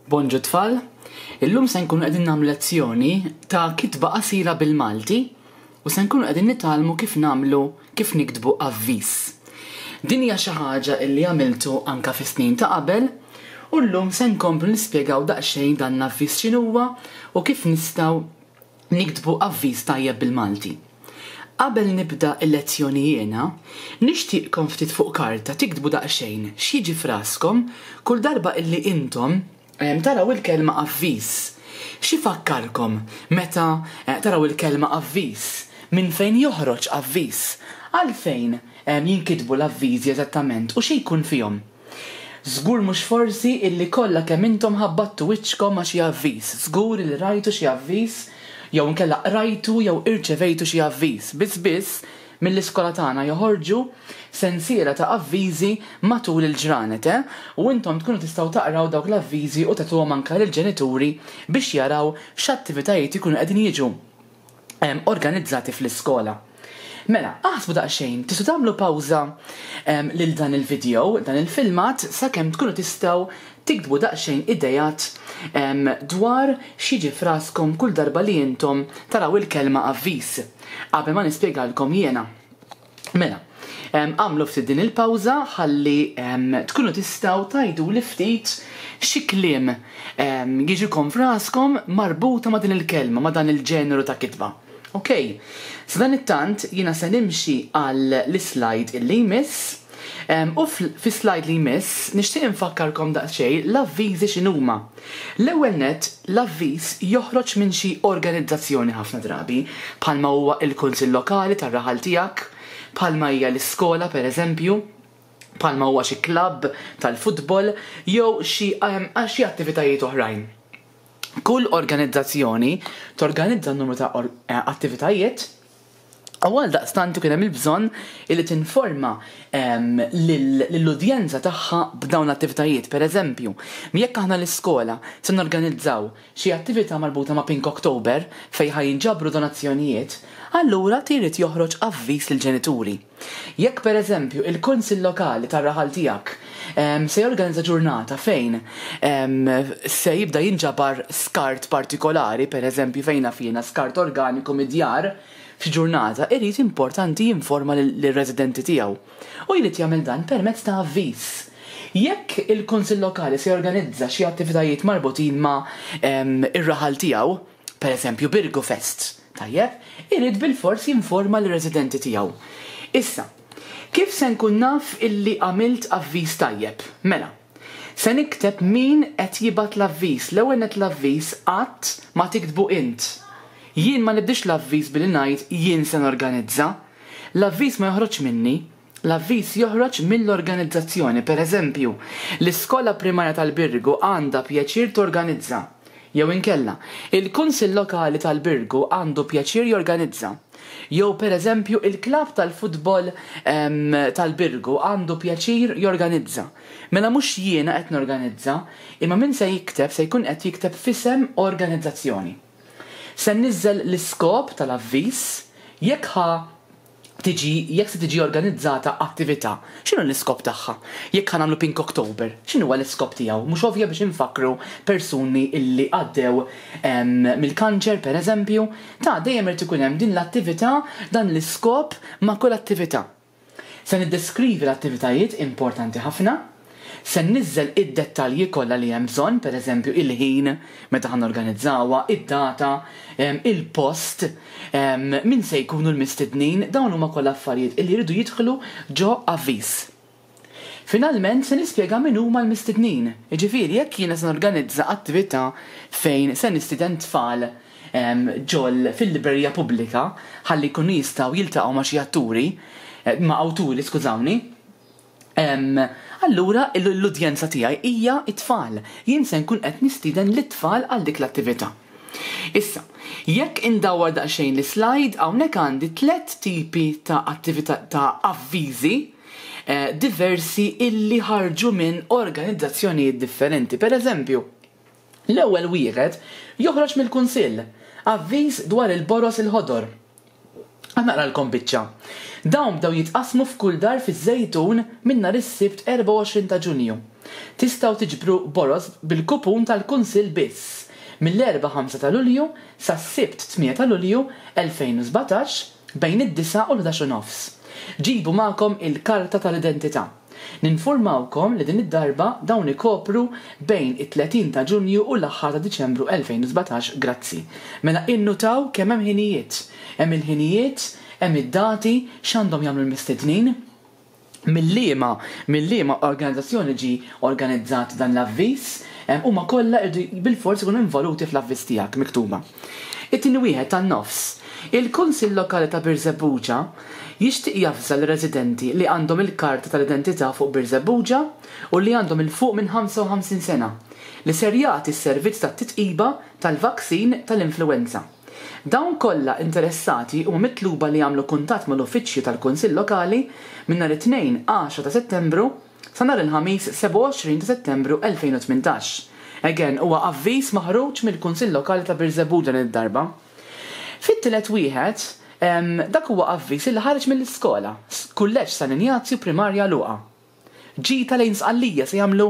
Bonġu tfal, illum se nkunu qegħdin nagħmlu lezzjoni ta' kitba qasira bil-Malti u se nkunu qegħdin nitgħallmu kif nagħmlu kif niktbu avviż. Din hija xi ħaġa illi għamiltu anka fis-snin ta' qabel u llum se nkomplu nispjegaw daqsxejn dan l-avviż x'inhuwa u kif nistgħu niktbu avviż tajjeb bil-Malti. Qabel nibda l-lezzjoni jiena, nixtieqkom ftit fuq karta tiktbu daqsxejn x'jiġi f'raskom kull darba illi intom taraw il-kelma avviż. X'ifakkarkom meta taraw il-kelma avviż? Minn fejn joħroġ avviż? Għalfejn jinkitbu l-avviżi eżattament u xi jkun fihom? Żgur mhux forsi illi kollha kemm intom ħabbattu wiċċkom ma' xi avviż. Żgur illi rajtu xi avviż jew inkella qrajtu jew irċevejtu xi avviż. Biss biss, mill-iskola tagħna joħorġu sensiela ta' avviżi matul il-ġranet, eh? U intom tkunu tistgħu taqraw dawk l-avviżi u tagħtuhom anke lill-ġenituri biex jaraw x'attivitajiet ikunu qegħdin jiġu organizzati fl-iskola. Mela, aħsbu daqsxejn, tistgħu tagħmlu pawża lil dan il-video, dan il-filmat, sakemm tkunu tistgħu tiktbu daqsxejn idejat dwar x'jiġi f'raskom kull darba li intom taraw il-kelma avviż, qabel ma nispjegalkom jiena. Mela, agħmlu ftit din il-pawża ħalli tkunu tistgħu tgħiduli ftit xi kliem jiġikom f'raskom marbuta ma' din il-kelma, ma' dan il-ġeneru ta' kitba. Ok, sadanittant jiena se nimxi għal l-islide illi jmiss u fis-slide li jmiss nixtieq infakkarkom daqsxejn l-avviżi x'inhuma. L-ewwel nett, l-avviż joħroġ minn xi organizzazzjoni ħafna drabi, bħalma huwa l-kunsill lokali tar-raħal tiegħek, bħalma hija l-iskola pereżempju, bħalma huwa xi klabb tal-futbol jew xi xi attivitajiet oħrajn. Kull organizzazzjoni torganizza numru ta' attivitajiet U għaldaqstant ikun hemm il-bżonn illi tinforma lill-udjenza tagħha b'dawn l-attivitajiet. Per eżempju, jekk aħna l-iskola se norganizzaw xi attività marbuta ma' Pink October fejn ħa jinġabru donazzjonijiet, allura trid joħroġ avviż lill-ġenituri. Jekk per eżempju il-kunsill lokali tar-raħal tiegħek se jorganizza ġurnata fejn se jibda jinġabar skart partikolari, per eżempju fejn naf jiena skart organiku mid-djar, f'xi ġurnata, irid importanti jinforma lir-residenti tiegħu. U jrid jagħmel dan permezz ta' avviż. Jekk il-kunsill lokali se jorganizza xi attivitajiet marbutin ma' ir-raħal tiegħu, per eżempju Birgu Fest, tajjeb, irid bilfors jinforma lir-residenti tiegħu. Issa, kif se nkun naf illi għamilt avviż tajjeb? Mela, se nikteb min qed jibgħat l-avviż. L-ewwel nett l-avviż qatt ma tiktbu int. Jien ma nibdiex l-avviż billi ngħid jien se norganizza. L-avviż ma joħroġx minni. L-avviż joħroġ mill-organizzazzjoni. Per eżempju, l-Iskola Primarja tal-Birgu għandha pjaċir torganizza. Jew inkella, il-Kunsill Lokali tal-Birgu għandu pjaċir jorganizza. Jew per eżempju, il-klabb tal-futbol tal-Birgu għandu pjaċir jorganizza. Mela mhux jiena qed norganizza, imma min se jikteb se jkun qed jikteb f'isem organizzazzjoni. Se nniżżel l-iskop tal-avviż, jekk ħa tiġi jekk se tiġi organizzata attività, x'inhu l-iskop tagħha? Jekk ħa nagħmlu Pink October, x'inhuwa l-iskop tiegħu? Mhux ovvja biex infakkru persuni illi għaddew mill-kanċer pereżempju? Ta' dejjem irid ikun hemm din l-attività, dan l-iskop ma' kull attività. Se niddeskrivi l-attivitajiet importanti ħafna. Se nniżżel id-dettalji kollha li hemm bżonn, pereżempju il-ħin meta ħa norganizzawha, id-data, il-post, min se jkunu l-mistednin, dawn huma kollha affarijiet illi jridu jidħlu ġo avviż. Finalment se nispjega min huma l-mistednin, jiġifieri jekk jiena se norganizza attività fejn se nistieden tfal ġol fil-librerija pubblika ħalli jkunu jistgħu jiltaqgħu ma' xi atturi, ma' awturi skużawni, Allura l-udjenza tiegħi hija t-tfal. Jien se nkun qed nistieden lit-tfal għal dik l-attività. Issa, jekk indawwar daqsxejn l-islide, hawnhekk għandi tlett tipi ta' attività ta' avviżi diversi illi ħarġu minn organizzazzjonijiet differenti. Per eżempju, l-ewwel wieħed joħroġ mill-Kunsill, avviż dwar il-boroż il-ħodor. Ħa naqralkom biċċa. Dawn bdew jitqassmu f'kull dar fiż-Żejtun minn nhar is-Sibt 24 ta' Ġunju. Tistgħu tiġbru boroż bil-kupun tal-Kunsill biss mill-Erbgħa 5 ta' Lulju sas-Sibt 8 ta' Lulju 2017 bejn id-disgħa u l-ħdax u nofs. Ġibu magħkom il-karta tal-identità. Ninfurmawkom li din id-darba dawn ikopru bejn it-30 ta' Ġunju u l-aħħar ta' Diċembru 2017 Grazzi. Mela innutaw kemm hemm ħinijiet. Hemm il-ħinijiet, hemm id-dati, x'għandhom jagħmlu l-mistednin, mil-liema mil-liema organizzazzjoni ġie organizzat dan l-avviż, huma kollha jridu bilfors ikunu involuti fl-avviż tiegħek miktuba. It-tieni wieħed tan-nofs. Il-Kunsill Lokali ta' Birżebbuġa jixtieq javża lir-residenti li għandhom il-karta tal-identità fuq Birżebbuġa u li għandhom 'il fuq minn 55 sena li ser jagħti s-servizz tat-titqiba tal-vaccine tal-influwenza. Dawn kollha interessati huma mitluba li jagħmlu kuntatt mal-uffiċċju tal-Kunsill Lokali minn nhar it-Tnejn 10 ta' Settembru sa nhar il-Ħamis 27 ta' Settembru 2018. Again, huwa avviż maħruġ mill-Kunsill Lokali ta' Birżebbuġa din id-darba. Fit-tielet wieħed, dak huwa avviż illi ħareġ mill-iskola, Kulleġġ San Injazju Primarja Luqa. Ġita lejn Sqallija se jagħmlu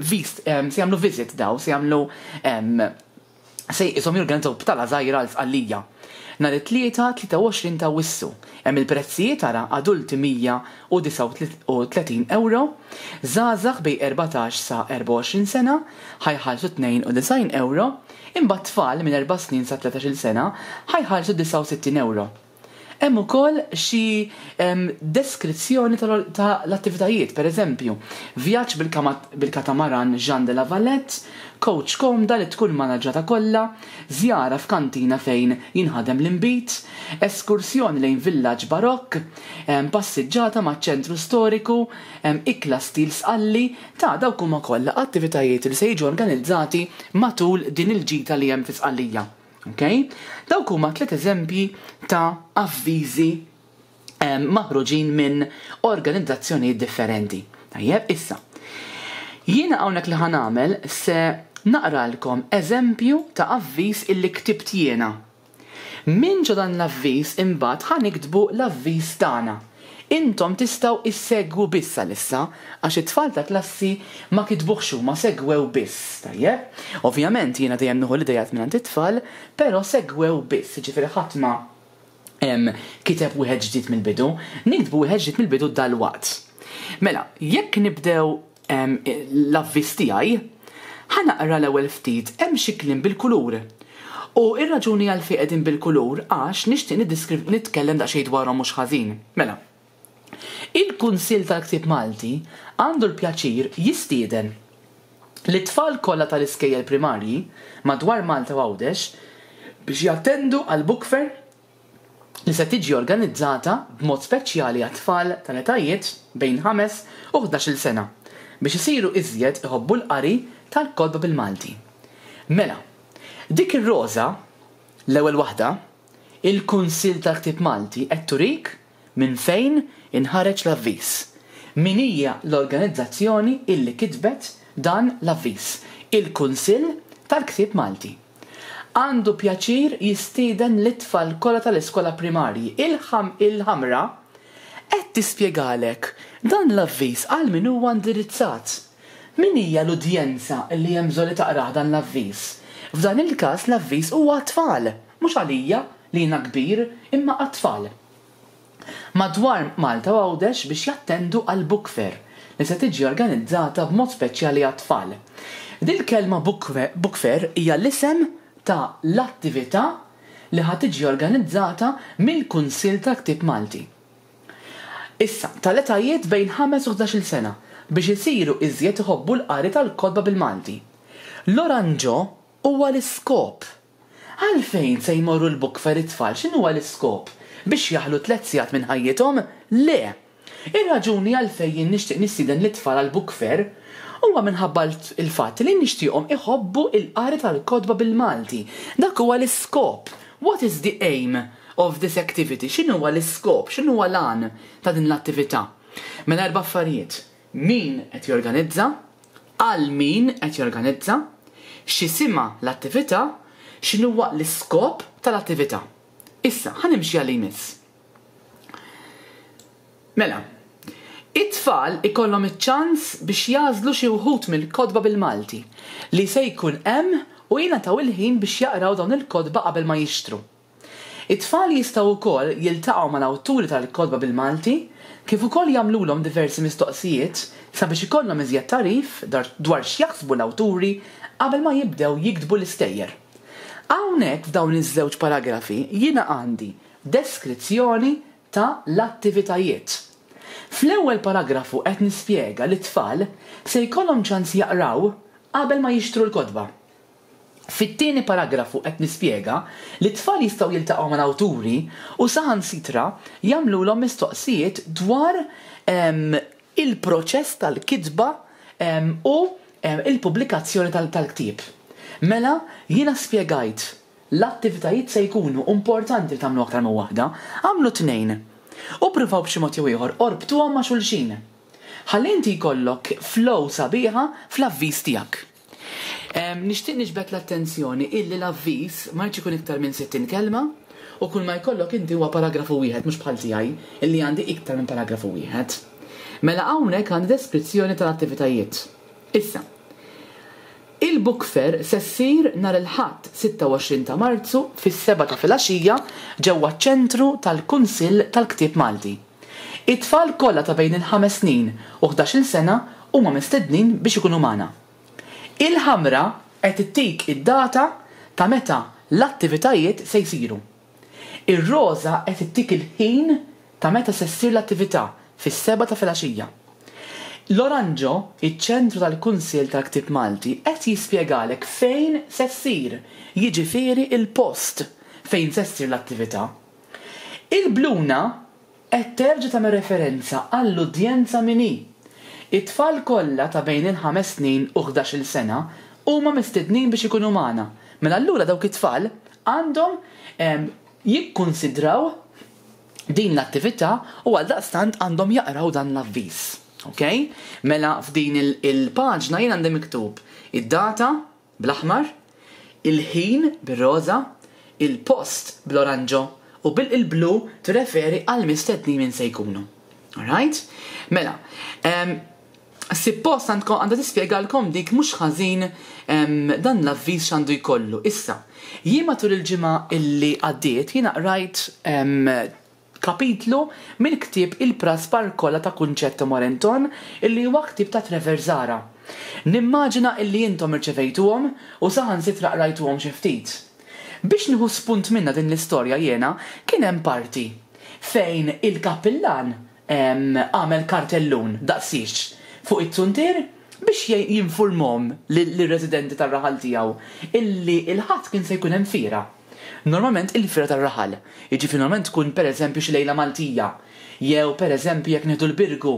se jagħmlu visit daw, se jagħmlu se qishom jorganizzaw btala żgħira għal Sqallija. Nhar it-Tlieta 23 ta' Awwissu. Hemm il-prezzijiet ara, adulti 139 ewro, żgħażagħ bejn 14 sa 24 sena ħa jħallsu 92 ewro, imbagħad tfal minn erba' snin sa 13-il sena ħa jħallsu 69 ewro. Hemm ukoll xi deskrizzjoni ta' l-attivitajiet, per eżempju, vjaġġ bil-katamaran Jean de la Valette, coach komda li tkun manaġġata kollha, żjara f'kantina fejn jinħadem l-inbid, eskursjoni lejn villaġġ barokk, passiġġata maċ-ċentru storiku, ikla stil Sqalli, ta' dawk huma kollha attivitajiet li se jiġu organizzati matul din il-ġita li hemm fi Sqallija. Okay? Dawk huma tliet eżempji ta' avviżi maħruġin minn organizzazzjonijiet differenti. Tajjeb, issa. Jiena hawnhekk li ħa nagħmel se naqralkom eżempju ta' avviż illi ktibt jiena. Minn ġo dan l-avviż imbagħad ħa niktbu l-avviż tagħna. Intom tistgħu issegwu biss għalissa, għax it-tfal ta' klassi ma kitbuhx huma, segwew biss, tajjeb? Ovvjament jiena dejjem nieħu l-ideat mingħand it-tfal, però segwew biss, jiġifieri ħadd ma kiteb wieħed ġdid mill-bidu. Niktbu wieħed ġdid mill-bidu dalwaqt. Mela, jekk nibdew l-avviż tiegħi, ħa naqra l-ewwel ftit hemm xi kliem bil-kulur. U r-raġuni għalfejn qegħdin bil-kulur għax nixtieq nitkellem daqsxejn dwarhom mhux ħażin. Mela, il-Kunsill tal-Ktieb Malti għandu l-pjaċir jistieden lit-tfal kollha tal-iskejjel primarji madwar Malta u Għawdex biex jattendu għall-Book Fair li se tiġi organizzata b'mod speċjali għat-tfal tal-etajiet bejn ħames u ħdax-il sena biex isiru iżjed iħobbu l-qari tal-kotba bil-Malti. Mela, dik ir-roża, l-ewwel waħda, il-Kunsill tal-Ktieb Malti qed turik minn fejn inħareġ l-avviż. Min hija l-organizzazzjoni illi kitbet dan l-avviż? Il-Kunsill tal-Ktieb Malti. Għandu pjaċir jistieden lit-tfal kollha tal-iskola primarji. Il-ħamra qed tispjegalek dan l-avviż għal min huwa indirizzat. Min hija l-udjenza li hemm bżonn li taqrah dan l-avviż? F'dan il-każ l-avviż huwa għat-tfal, mhux għalija li jiena kbir, imma għat-tfal. Madwar Malta u Għawdex biex jattendu għal Book Fair li se tiġi organizzata b'mod speċjali għat-tfal. Dil-kelma Book Fair hija l-isem ta' l-attività li ħa tiġi organizzata mill-Kunsill tal-Ktieb Malti. Issa, tal-etajiet bejn ħames u ħdax-il sena biex isiru iżjed iħobbu l-qari tal-kotba bil-Malti. L-oranġo huwa l-iskop Għalfejn se jmorru l-book fair it-tfal? X'inhuwa l-iskop? Biex jaħlu tlett sigħat minn ħajjithom? Le! Ir-raġuni għalfejn jien nixtieq nistieden lit-tfal għall-book fair huwa minħabba l-fatt li nixtieqhom iħobbu l-qari tal-kotba bil-Malti. Dak huwa l-iskop. What is the aim of this activity? X'inhuwa l-iskop? X'inhuwa l-għan ta' din l-attività? Mela erba' affarijiet. Min qed jorganizza? Għal min qed jorganizza? X'isimha l-attività? X'inhuwa l-iskop tal-attività? Issa, ħa nimxi għal li jmiss. Mela, it-tfal ikollhom iċ-ċans biex jagħżlu xi wħud mill-kotba bil-Malti li se jkun hemm u jingħataw il-ħin biex jaqraw dawn il-kotba qabel ma jixtru. It-tfal jistgħu wkoll jiltaqgħu mal-awturi tal-kotba bil-Malti kif ukoll jagħmlulhom diversi mistoqsijiet sabiex ikollhom iżjed tagħrif dwar x'jaħsbu l-awturi qabel ma jibdew jiktbu l-istejjer. Hawnhekk f'dawn iż-żewġ paragrafi jiena għandi deskrizzjoni ta' l-attivitajiet. Fl-ewwel paragrafu qed nispjega li t-tfal se jkollhom ċans jaqraw qabel ma jixtru l-kotba. Fit-tieni paragrafu qed nispjega li t-tfal jistgħu jiltaqgħu mal-awturi u saħansitra jagħmlulhom mistoqsijiet dwar il-proċess tal-kitba u l-pubblikazzjoni tal-ktieb. Mela, jiena spjegajt l-attivitajiet se jkunu, importanti li tagħmlu aktar minn waħda, agħmlu tnejn u ppruvaw b'xi mod jew ieħor orbtuhom ma' xulxin. Ħalli inti jkollok flow sabiħa fl-avviż tiegħek. Nixtieq niġbed l-attenzjoni illi l-avviż ma jridx ikun iktar minn 60 kelma u kull ma jkollok inti huwa paragrafu wieħed mhux bħal tiegħi illi għandi iktar minn paragrafu wieħed. Mela hawnhekk għandi deskrizzjoni tal-attivitajiet. Issa, il-Book Fair se ssir nhar il-Ħadd 26 ta' Marzu fis-sebgħa ta' filgħaxija ġewwa ċ-Ċentru tal-Kunsill tal-Ktieb Malti. It-tfal kollha ta' bejn il-ħames snin u ħdax-il sena huma mistednin biex ikunu magħna. Il-ħamra qed ittik id-data ta' meta l-attivitajiet se jsiru. Ir-roża qed ittik il-ħin ta' meta se ssir l-attività, fis-sebgħa ta' filgħaxija. L-oranġo, iċ-Ċentru tal-Kunsill tal-Ktieb Malti, qed jispjegalek fejn se ssir, jiġifieri l-post fejn se ssir l-attività. Il-bluna qed terġa' tagħmel referenza għall-udjenza min hi. It-tfal kollha ta' bejn il-ħames snin u ħdax-il sena huma mistednin biex ikunu magħna. Mela allura dawk it-tfal għandhom jikkunsidraw din l-attività u għaldaqstant għandhom jaqraw dan l-avviż. Ok? Mela f'din il-paġna jien għandi miktub id-data bl-aħmar, il-ħin bir-roża, il-post bl-oranġo u bil-blu tirreferi għall-mistednin min se jkunu. Alright? Mela, suppost għandkom għandha tispjegalkom dik mhux ħażin dan l-avviż x'għandu jkollu. Issa, jien matul il-ġimgħa illi għaddiet jiena qrajt kapitlu mill-ktieb Il-Praspar Kollha ta' Concetto Morenton illi huwa ktieb ta' Trevor Zahra. Nimmaġina illi intom irċevejtuhom u saħansitra qrajtuhom xi ftit. Biex nieħu spunt minnha din l-istorja jiena kien hemm parti fejn il-kappillan għamel kartellun daqsiex fuq it-zuntier biex jinfurmhom lir-residenti tar-raħal tiegħu illi l-Ħadd kien se jkun hemm fiera. Normalment il-fiera tar-raħal, jiġifieri normalment tkun pereżempju xi lejla Maltija, jew pereżempju jekk nieħdu l-Birgu,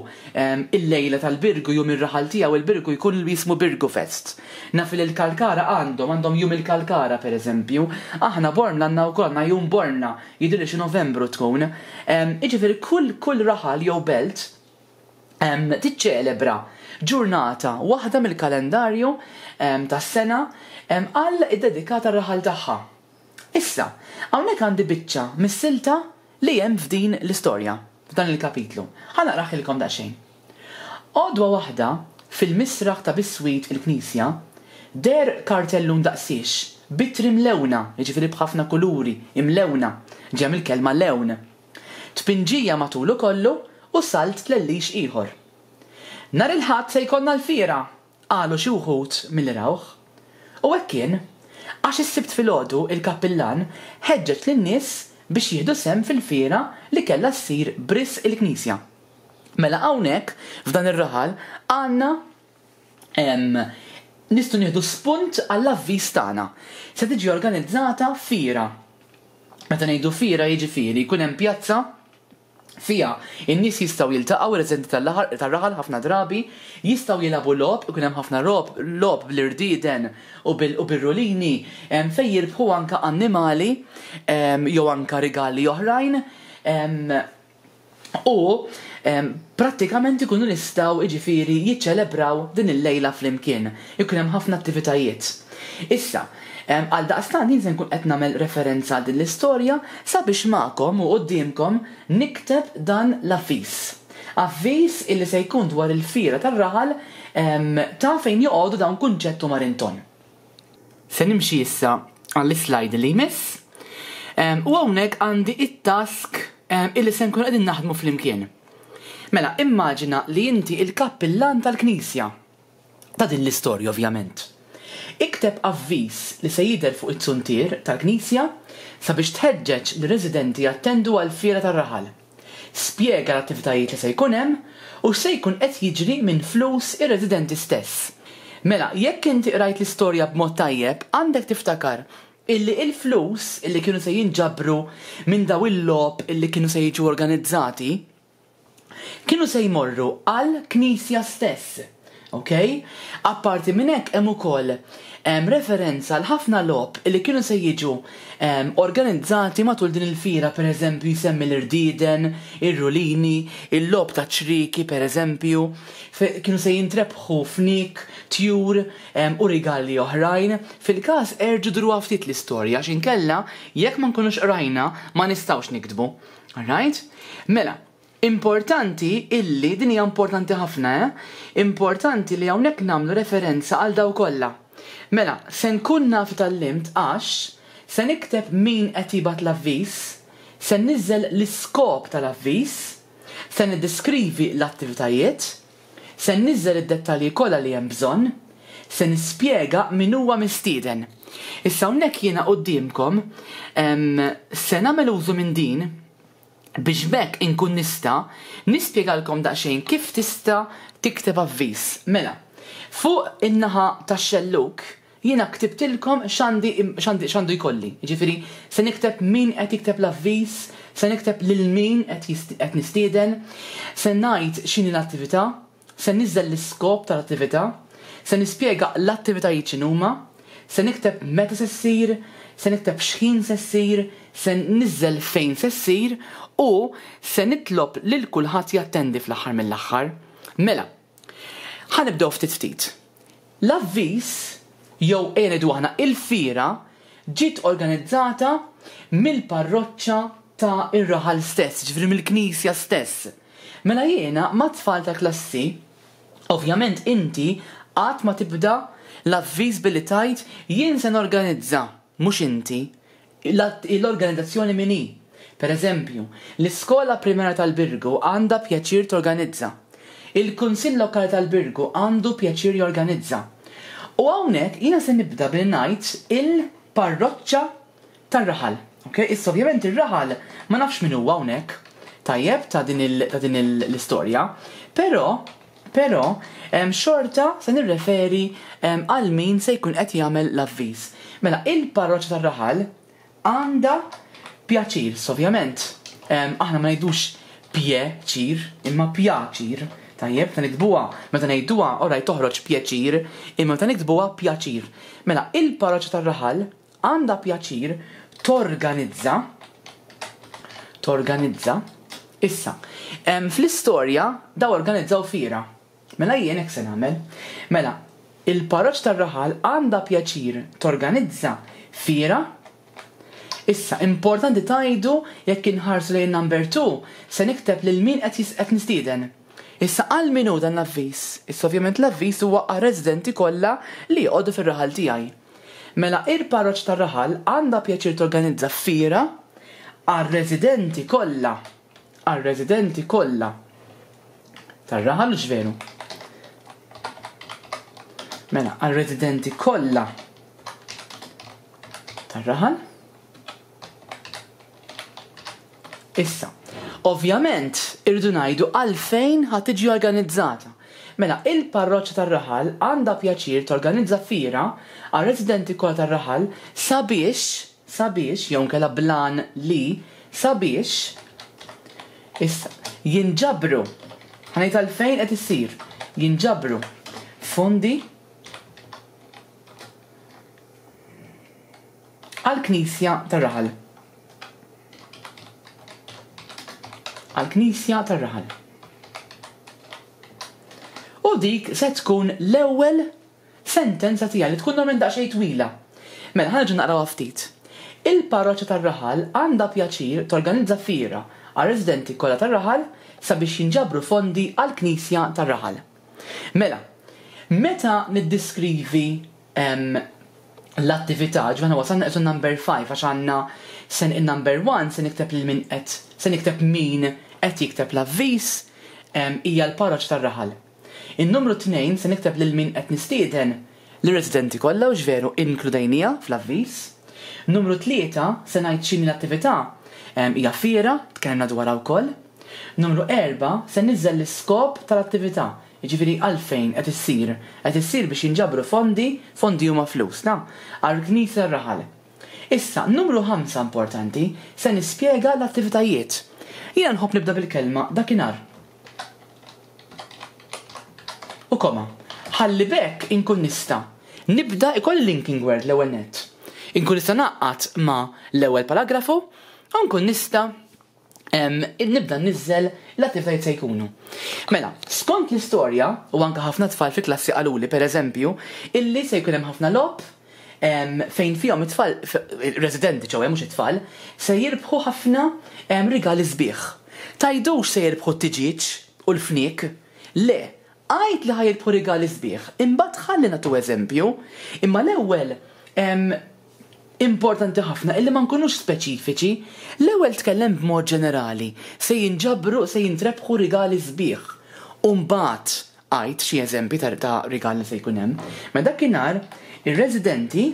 il-lejla tal-Birgu, jum ir-raħal tiegħu il-Birgu jkun jismu Birgu Fest. Naf li l-Kalkara għandhom, għandhom jum il-Kalkara pereżempju. Aħna Bormla għandna wkoll, għandna jum Bormla, jidhirli xi Novembru tkun. Jiġifieri kull kull raħal jew belt tiċċelebra ġurnata waħda mill-kalendarju tas-sena għal iddedikata r-raħal tagħha. Issa, hawnhekk għandi biċċa mis-silta li hemm f'din l-istorja, f'dan il-kapitlu. Ħa naqraħilkom daqsxejn. Għodwa waħda, fil-misraħ ta' biswit il-knisja, deher kartellun daqsiex, b'ittri mlewna, jiġifieri b'ħafna kuluri, imlewna, ġejja mill-kelma lewn. Tpinġija matulu kollu u salt tlellix ieħor. Nhar il-Ħadd se jkollna l-fiera! qalu xi wħud milli rawh. U hekk kien, għax is-Sibt filgħodu il-kappillan ħeġġeġ lin-nies biex jieħdu sehem fil-fiera li kellha ssir b'risq il-knisja. Mela hawnhekk, f'dan ir-raħal, għandna nistgħu nieħdu spunt għall-avviż tagħna. Se tiġi organizzata fiera. Meta ngħidu fiera jiġifieri jkun hemm pjazza fiha n-nies jistgħu jiltaqgħu, ir-residenti tar-raħal ħafna drabi jistgħu jilagħbu logħob, ikun hemm ħafna logħob bl-irdieden u bir-rulini fejn jirbħu anke annimali jew anke rigali oħrajn. U prattikament ikunu nistgħu jiġifieri jiċċelebraw din il-lejla flimkien. Ikun hemm ħafna attivitajiet. Issa, għaldaqstant jien se nkun qed nagħmel referenza għal din l-istorja sabiex magħkom u quddiemkom nikteb dan l-avviż. Avviż illi se jkun dwar il-fiera tar-raħal ta' fejn joqogħdu dawn Kunċett u Marinton. Se nimxi issa għall-islide li jmiss. U hawnhekk għandi it-task illi se nkunu qegħdin naħdmu flimkien. Mela, immaġina li inti il-kappillan tal-knisja. Ta' din l-istorja ovvjament. Ikteb avviż li se jidher fuq it-zuntier tal-knisja sabiex tħeġġeġ lir-residenti jattendu għall-fiera tar-raħal. Spjega l-attivitajiet li se jkun hemm u x'se jkun qed jiġri minn flus ir-residenti stess. Mela, jekk inti qrajt l-istorja b'mod tajjeb, għandek tiftakar illi il-flus illi kienu se jinġabru minn daw il-logħob illi kienu se jiġu organizzati, kienu se jmorru għall-Knisja stess. Ok? Apparti minn hekk hemm ukoll referenza għal ħafna logħob li kienu se jiġu organizzati matul din il-fiera, pereżempju jsemmi l-irdieden, ir-rulini, il-logħob ta' ċrieki pereżempju, kienu se jintrebħu fniek, tjur u rigali oħrajn. Fil-każ erġgħu duruha ftit l-istorja għax inkella jekk ma nkunux qrajna ma nistgħux niktbu. Alright? Mela, importanti illi, din hija importanti ħafna, eh? Importanti li hawnhekk nagħmlu referenza għal daw kollha. Mela, se nkun naf tgħallimt għax se nikteb min qed jibgħat l-avviż, se nniżżel l-iskop tal-avviż, se niddeskrivi l-attivitajiet, Se nniżżel id-dettalji kollha li hemm bżonn. Se nispjega min huwa mistieden. Issa hawnhekk jiena quddiemkom se nagħmel użu minn din biex b'hekk inkun nista' nispjegalkom daqsxejn kif tista' tikteb avviż. Mela, fuq in-naħa tax-xellug Jiena ktibtilkom x'għandi x'għandi x'għandu jkolli. Jiġifieri se nikteb min qed jikteb l-avviż, se nikteb lil min qed qed nistieden, se ngħid x'inhi l-attività, se nniżżel l-iskop tal-attività, se nispjega l-attivitajiet x'inhuma, se nikteb meta se ssir, se nikteb x'ħin se ssir, se nniżżel fejn se ssir u se nitlob lil kulħadd jattendi fl-aħħar mill-aħħar. Mela, ħa nibdew ftit ftit. L-avviż, jew ejja ngħidu aħna il-fiera, ġiet organizzata mill-parroċċa ta' ir-raħal stess, jiġifieri mill-knisja stess. Mela jiena mat-tfal tal-klassi, ovvjament inti qatt ma tibda l-avviż billi tgħid jien se norganizza, mhux inti, L-organizzazzjoni min hi? Per eżempju, l-Iskola Primarja tal-Birgu għandha pjaċir torganizza. Il-Kunsill Lokali tal-Birgu għandu pjaċir jorganizza. U hawnhekk jiena se nibda billi ngħid il-parroċċa tar-raħal. Ok? Issa ovvjament ir-raħal ma nafx min huwa hawnhekk, tajjeb, ta' din ta' din l-istorja, però Però, xorta se nirreferi għal min se jkun qed jagħmel l-avviż. Mela, il-parroċċa tar-raħal għandha pjaċir, ovvjament, aħna ma ngħidux pje-ċir, imma pjaċir, tajjeb, meta niktbuha, meta ngħiduha, alright, toħroġ pjaċir, imma meta niktbuha pjaċir. Mela, il-parroċċa tar-raħal għandha pjaċir torganizza, torganizza, issa, fl-istorja daw organizzaw fiera. Mela jien hekk se nagħmel. Mela, il-parroċċa tar-raħal għandha pjaċir torganizza fiera. Issa, importanti tgħidu jekk inħarsu lejn number 2, se nikteb lil min qed nistieden. Issa għal min hu dan l-avviż? Issa ovvjament l-avviż huwa għar-residenti kollha li joqogħdu fir-raħal tiegħi. Mela il-parroċċa tar-raħal għandha pjaċir torganizza fiera għar-residenti kollha, għar-residenti kollha tar-raħal, hux veru? Mela, għar-residenti kollha tar-raħal. Issa, ovvjament irridu ngħidu għalfejn ħa tiġi organizzata. Mela, il-parroċċa tar-raħal għandha pjaċir torganizza fiera għar-residenti kollha tar-raħal sabiex, sabiex, jew inkella bl-għan li, sabiex, issa, jinġabru, ħa ngħid għalfejn qed issir, jinġabru fondi Għall-knisja tar-raħal. Għall-knisja tar-raħal. U dik se tkun l-ewwel sentenza tiegħi li tkun normalment daqsxejn twila. Mela, ħa nerġa' naqrawha ftit. Il-parroċċa tar-raħal għandha pjaċir torganizza fiera għar-residenti kollha tar-raħal sabiex jinġabru fondi għall-knisja tar-raħal. Mela, meta niddiskrivi l-attività, ġifieri aħna wasalna qisu number 5 għax għandna sen in-number 1 se nikteb lil min qed se nikteb min qed jikteb l-avviż hija l-parroċċa tar-raħal. In-numru 2 se nikteb lil min qed nistieden lir-residenti kollha hux veru inkludejniha fl-avviż. Numru 3 se ngħid x'inhi l-attività hija fiera, tkellimna dwarha wkoll. Numru 4 se niżżel l-iskop tal-attività, Jiġifieri għalfejn qed issir? Qed issir biex jinġabru fondi, fondi huma flus, na, għall-knisja tar-raħal. Issa, numru ħamsa importanti, se nispjega l-attivitajiet. Jiena nħobb nibda bil-kelma dakinhar. U koma. Ħalli b'hekk inkun nista' nibda ikolli linking word l-ewwel nett. Inkun nista' ngħaqqad ma' l-ewwel paragrafu u nkun nista' nibda nniżżel l-attivitajiet se jkunu. Mela, skont l-istorja, u anke ħafna tfal fil-klassi qaluli pereżempju, illi se jkun hemm ħafna logħob fejn fihom it-tfal, residenti ċewwe mhux it-tfal, se jirbħu ħafna rigali sbieħ. Tgħidux se jirbħu t-tiġieġ u l-fniek, le, għid li ħa jirbħu rigali sbieħ, imbagħad ħalli nagħtu eżempju, imma l-ewwel Importanti ħafna illi ma nkunux speċifiċi. L-ewwel tkellem b'mod ġenerali, se jinġabru, se jintrebħu rigali sbieħ. U mbagħad għid xi eżempji ta' ta' rigali li se jkun hemm. Mela dakinhar ir-residenti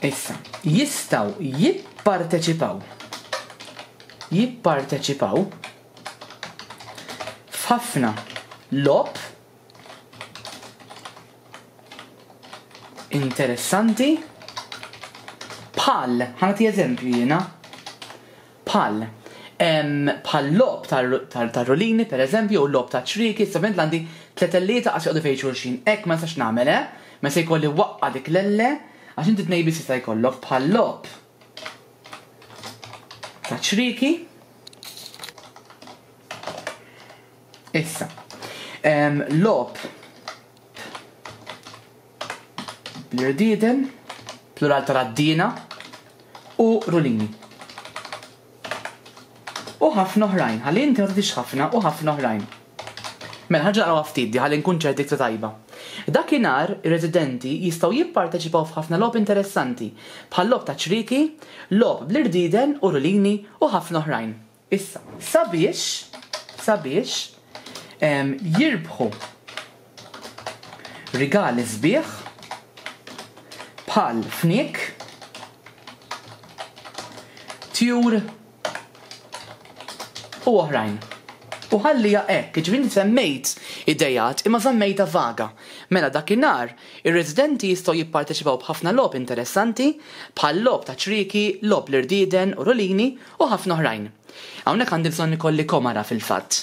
issa jistgħu jipparteċipaw jipparteċipaw f'ħafna logħob Interessanti. Bħal, ħa nagħti eżempju jiena. Bħal, bħal logħob tar-rulini pereżempju, u logħob ta' ċrieki, issa ovvjament għandi tletellieta qas joqogħdu fejn xulxin. Hekk ma nistax nagħmel, eh? Ma se jkolli waqqa' dik l-elle għax inti tnej biss jista' jkollok bħal logħob ta' ċrieki. Issa, logħob bl-irdieden, plural ta' raddiena, u rulini. U ħafna oħrajn, ħalli inti ma tagħtix ħafna u ħafna oħrajn. Mela ħa naqrawha ftit di ħalli nkun ċert iktar tajba. Dakinhar ir-residenti jistgħu jipparteċipaw f'ħafna logħob interessanti, bħal logħob ta' ċrieki, logħob bl-irdieden u rulini u ħafna oħrajn. Issa, sabiex, sabiex jirbħu rigali sbieħ bħal fniek, tjur u oħrajn. U ħalliha hekk, jiġifieri inti semmejt ideat imma żammejtha vaga. Mela dakinhar ir-residenti jistgħu jipparteċipaw b'ħafna logħob interessanti bħal logħob ta' ċrieki, logħob l-irdieden u rulini U ħafna oħrajn. Hawnhekk għandi bżonn ikolli komara fil-fatt.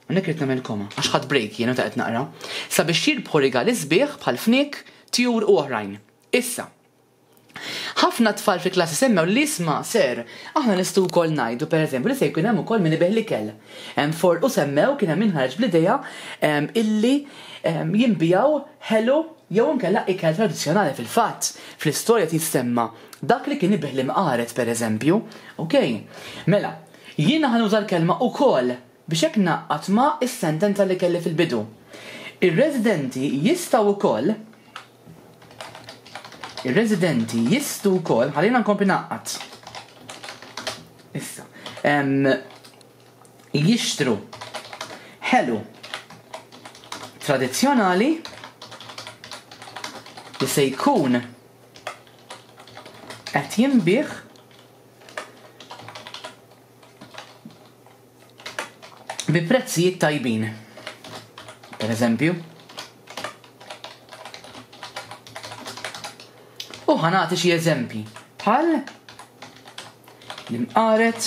Hawnhekk irrid nagħmel koma, għax ħadt break jien meta qed naqra. Sabiex jirbħu rigali sbieħ bħal fniek, tjur u oħrajn. Issa. Ħafna tfal fil-klassi semmew li isma' sir, aħna nistgħu wkoll ngħidu pereżempju li se jkun hemm ukoll min ibigħ l-ikel. Hemm for u semmew kien hemm min ħareġ bl-idea illi jinbiegħu ħelu jew inkella ikel tradizzjonali fil-fatt. Fl-istorja tissemma Dak li kien ibigħ l-imqaret, per eżempju. Ok. Mela, jiena ħa nuża l-kelma ukoll biex hekk ngħaqqad ma' is-sentenza li kelli fil-bidu. Ir-residenti jistgħu wkoll Ir-residenti jistgħu wkoll, ħallina nkompli ngħaqqad. Issa. Jixtru ħelu tradizzjonali li se jkun Qed jinbiegħ bi prezzijiet tajbin. Per eżempju. U ħa nagħti xi eżempji bħal l-imqaret,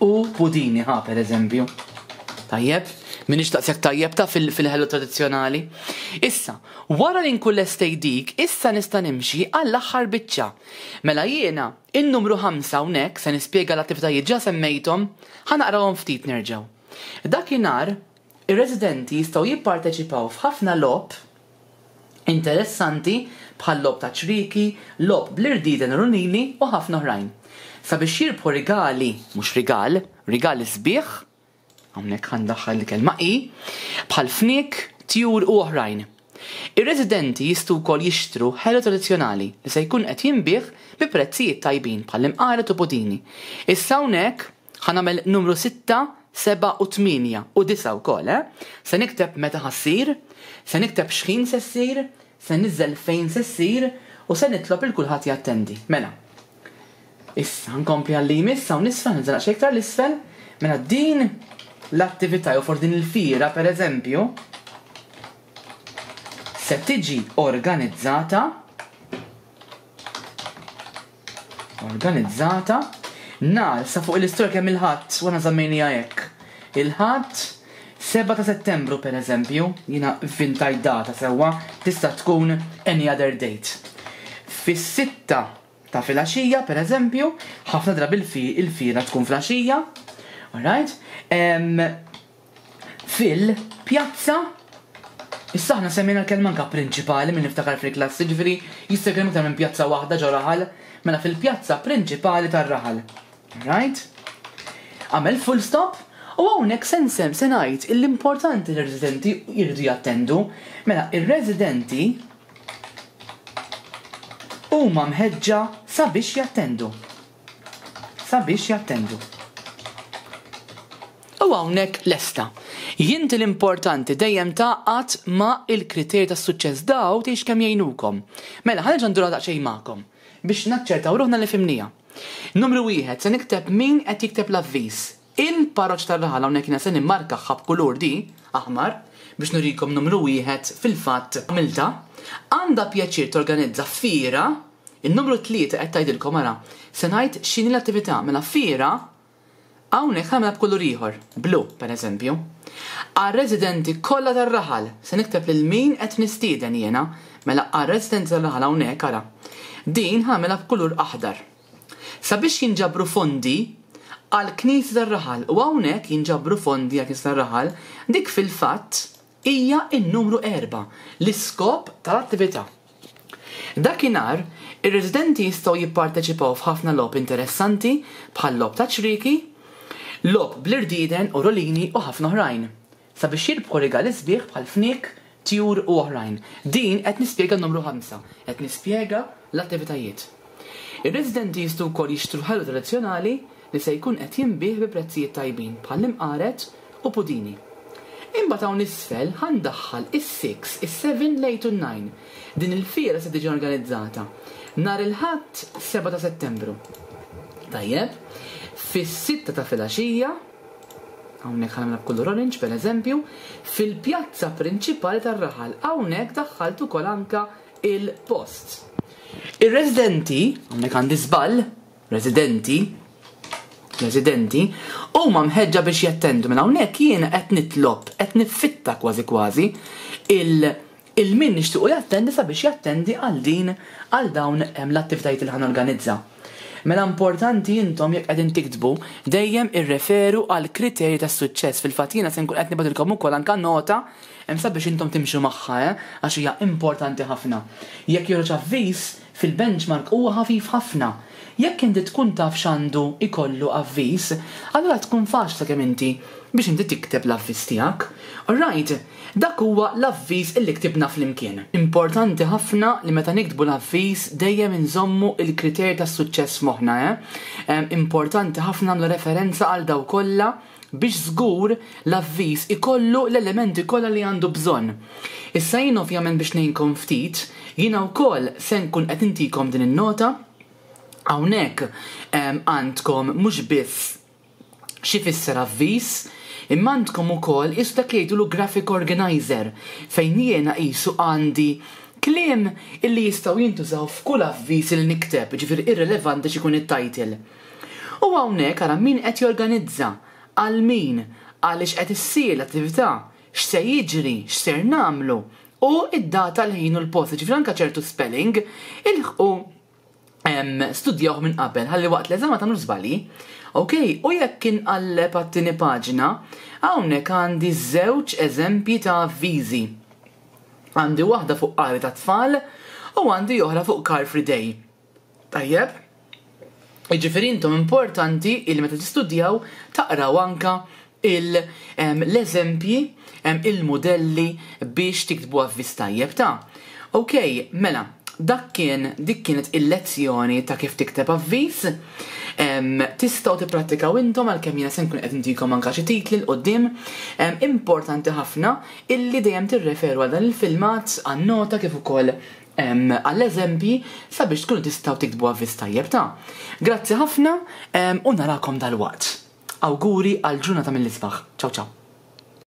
U pudini ħa per eżempju. Tajjeb, minix daqshekk tajjeb ta' fil-ħelu tradizzjonali. Issa, wara li nkun lestejt dik, issa nista' nimxi għall-aħħar biċċa. Mela jiena, in-numru 5 hawnhekk se nispjega l-attivitajiet ġa semmejthom, ħa naqrawhom ftit nerġgħu. Dakinhar, ir-residenti jistgħu jipparteċipaw f'ħafna logħob interessanti bħal logħob ta' ċrieki, logħob bl-irdieden u runili u ħafna oħrajn. Sabiex jirbħu rigali, mhux rigal, rigali sbieħ, hawnhekk ħa ndaħħal il-kelma i, bħal fniek, tjur u oħrajn. Ir-residenti jistgħu wkoll jixtru ħelu tradizzjonali li se jkun qed jinbiegħ bi prezzijiet tajbin bħal imqaret u pudini. Issa hawnhekk ħa nagħmel numru sitta, sebgħa u tmienja u disgħa wkoll, eh? Se nikteb meta ħa ssir, se nikteb x'ħin se ssir, se niżżel fejn se ssir u se nitlob lil kulħadd jattendi. Mela. Issa nkompli għal li jmiss hawn isfel, nżel daqsxejn iktar l-isfel, mela din l-attività jew forsi din il-fiera pereżempju se tiġi organizzata organizzata nhar sa fuq l-istorja kemm il-ħadd u aħna żammejniha hekk. Il-Ħadd 7 ta' Settembru pereżempju, jiena vvintajt data sewwa, tista' tkun any other date. Fis-sitta ta' filgħaxija, per eżempju, ħafna drabi il-fiera tkun fl-għaxija, alright? Fil-pjazza, issa aħna semmejna l-kelma anka prinċipali minn niftakar fil-klassi, ġifieri jista' jkun hemm iktar minn pjazza waħda ġo raħal, mela fil-pjazza prinċipali tar-raħal. Right? Għamel full stop u hawnhekk se nsem se ngħid l-importanti li r-residenti jridu jattendu. Mela, ir-residenti huma mħeġġa sabiex jattendu. Sabiex jattendu. U hawnhekk lesta. Jinti l-importanti dejjem tgħaqqad ma' il-kriterji tas-suċċess daw tgħix kemm jgħinukom. Mela, ħa nerġa' ndurha daqsxejn magħkom biex naċċertaw ruħna li fhimniha. Numru wieħed, se nikteb min qed jikteb l-avviż. Il-parroċċa tar-raħal hawnhekk jiena se nimmarkaha b'kulur di, aħmar, biex nurikom numru wieħed fil-fatt għamiltha. Għandha pjaċir torganizza fiera, in-numru tlieta qed tgħidilkom ara, se ngħid x'inhi l-attività, mela fiera hawnhekk ħa nagħmilha b'kulur ieħor, blu pereżempju. Għar-residenti kollha tar-raħal, se nikteb lil min qed nistieden jiena, mela għar-residenti tar-raħal hawnhekk ara, din ħa nagħmilha b'kulur aħdar. Sabiex jinġabru fondi għall-knisja tar-raħal u hawnhekk jinġabru fondi għall-knisja tar-raħal, dik fil-fatt hija n-numru erbgħa, l-iskop tal-attività. Dakinhar, ir-residenti jistgħu jipparteċipaw f'ħafna logħob interessanti bħal logħob taċ-ċrieki, logħob bl-irdieden u rolini u ħafna oħrajn. Sabiex jirbħu rigali sbieħ bħal fniek, tjur u oħrajn. Din qed nispjega n-numru ħamsa, qed nispjega l-attivitajiet. Ir-residenti jistgħu wkoll jixtru ħelu tradizzjonali li se jkun qed jinbiegħ bi prezzijiet tajbin bħall-imqaret u pudini. Imbagħad hawn isfel ħa ndaħħal is-six, is-seven, l-eight u n-nine. Din il-fiera se tiġi organizzata nhar il-Ħadd 7 ta' Settembru. Tajjeb, fis-sitta ta' filgħaxija, Hawnhekk ħa nagħmilha b'kulur orange pereżempju, fil-pjazza prinċipali tar-raħal. Hawnhekk daħħalt ukoll anka il-post. Ir-residenti, hawnhekk għandi żball, residenti, residenti, huma mħeġġa biex jattendu minn hawnhekk jiena qed nitlob, qed niffitta kważi kważi il Il min nixtiequ jattendi sabiex jattendi għal din għal dawn l-attivitajiet li ħa norganizza. Mela importanti intom jekk qegħdin tiktbu dejjem irreferu għal kriterji tas-suċċess. Fil-fatt jiena se nkun qed nibgħatilkom ukoll anke nota hemm sabiex intom timxu magħha eh għax hija importanti ħafna. Jekk joħroġ avviż fil-benchmark huwa ħafif ħafna. Jekk inti tkun taf x'għandu jkollu avviż, allura tkun faċli sakemm inti biex inti tikteb l-avviż tiegħek. Alright? Dak huwa l-avviż illi ktibna flimkien. Importanti ħafna li meta niktbu l-avviż dejjem inżommu l-kriterji tas-suċċess f'moħħna, eh? Importanti ħafna nagħmlu referenza għal dawk kollha biex żgur l-avviż ikollu l-elementi kollha li għandu bżonn. Issa jien ovvjament biex ngħinkom ftit, jiena wkoll se nkun qed intikom din in-nota. Hawnhekk għandkom mhux biss X'ifisser avviż? Imma għandkom ukoll qisu dak li jgħidulu graphic organizer fejn jiena qisu għandi kliem illi jistgħu jintużaw f'kull avviż li nikteb, jiġifieri irrilevanti x'ikun it-title. U hawnhekk ara min qed jorganizza, għal min, għaliex qed issir l-attività, x'se jiġri, x'ser nagħmlu, u d-data, l-ħin u l-post, jiġifieri anke ċertu spelling ilħqu studjawh minn qabel ħalli waqt l-eżami ma tagħmlux żbalji. Ok, u jekk inqalleb għat-tieni paġna, hawnhekk għandi żewġ eżempji ta' avviżi. Għandi waħda fuq qari ta' tfal u għandi oħra fuq Car Free Day. Tajjeb? Jiġifieri intom importanti illi meta tistudjaw taqraw anka l-eżempji, il-mudelli biex tiktbu avviż tajjeb ta'. Ok, mela, dak kien dik kienet il-lezzjoni ta' kif tikteb avviż. Tistgħu tipprattikaw intom għalkemm jiena se nkun qed intikom anka xi titli 'l quddiem. Importanti ħafna illi dejjem tirreferu għal dan il-filmat, għan-nota kif ukoll għall-eżempji sabiex tkunu tistgħu tiktbu avviż tajjeb ta'. Grazzi ħafna u narakom dalwaqt. Awguri għal ġurnata mill-isbaħ. Ciao ciao.